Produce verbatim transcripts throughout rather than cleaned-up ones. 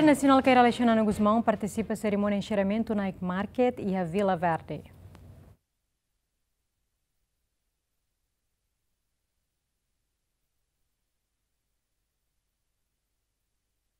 Nasionál Kay Rala Xanana Gusmão partisipa serimónia enserramentu Night Market iha Vila Verde.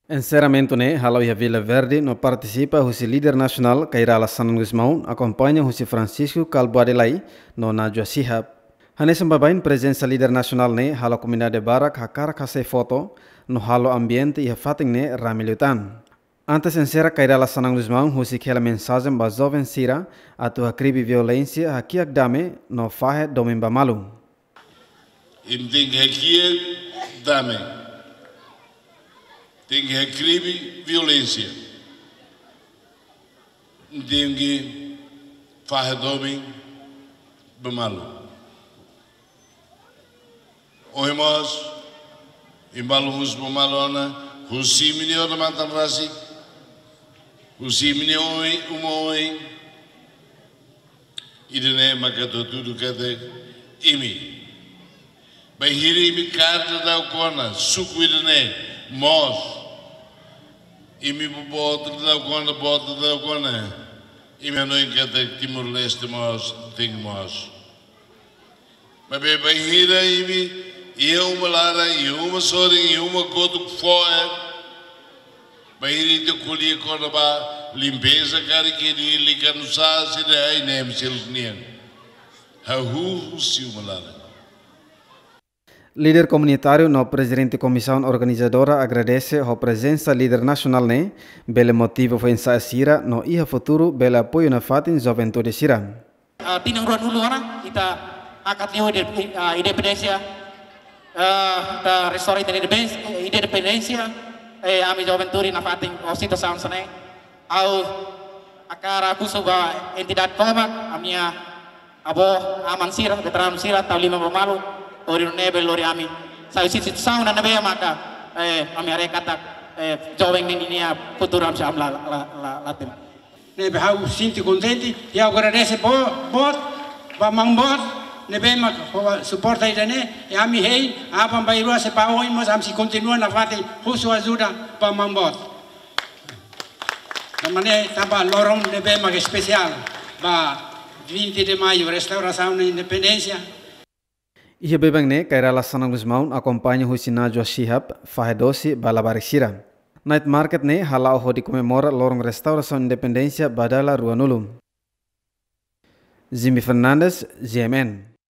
Enserramentu ne'e hala'o iha Vila Verde no partisipa husi líder nasionál Kay Rala Xanana Gusmão, akompaña husi Francisco Kalbuadi Lay no Najwa Shihab. Hanesan baibain prezensa líder nasionál ne'e halo komunidade barak hakarak hasai foto no halo ambiente iha fatin ne'e rame liután. Antes enserra Kay Rala Xanana Gusmão husik hela mensajen ba joven sira atu hakribi violénsia, hakiak dame no fahe domin ba malu. Imi tenke hakiak dame, tenke hakribi violénsia, tenke fahe domin ba malu. Ohin mós, imi balu husu ba malu ona, husi imi-nia odamatan rasik, husi imi-nia oin, uma oin. Ida-ne'e maka atu hatudu katak imi, bainhira imi kaer daudauk ona suku ida-ne'e, mós imi boboot daudauk ona, boot daudauk ona, imi hanoin katak Timor-Leste mós tenke moos. Maibé bainhira imi iha uma laran, iha uma sorin, iha uma kotuk fo'er, bainhira ita ko'alia kona-ba limpeza karik iha nia likanusá, sira hanesan ema seluk nian, hahú husi uma laran. Líder komunitáriu no prezidente komisaun organizadora agradese ho prezensa líder nasionál ne'e, bele motiva foin-sa'e sira no iha futuru bele apoiu nafatin juventude sira. Ah, tinan ruanulu ona, ita hakat liu inde-, ah, independénsia, ah, ita restaura ita independénsia, independénsia, eh, ami juventude nafatin ho situasaun hanesan ne'e. Ha'u hakarak husu ba entidade tomak, ami-nia avó, aman sira, veteranu sira, tau liman ba malu, hodi nune'e bele lori ami sai husi situasaun ne'ebé maka, eh, ami haree katak, eh, joven ne'e ninia futuru ami sei la, la, la, la temi. Ne'ebé ha'u sente kontente, i ha'u agradese boot, boot, ba maun boot, ne'ebé mak ho suporta ida-ne'e, i ami hein, aban-bainrua se ba oin mós ami sei kontinua nafatin husu ajuda ba maun boot. Tanba ne'e, tanba loron ne'ebé mak espesiál, ba vinte de Maio, restaurasaun independénsia. Iha beibain ne'e, Kay Rala Xanana Gusmão akompaña husi Najwa Shihab fahe dose ba labarik sira. Night market ne'e hala'o hodi komemora loron restaurasaun independénsia ba dala ruanulu. Jimmy Fernandes, G M N.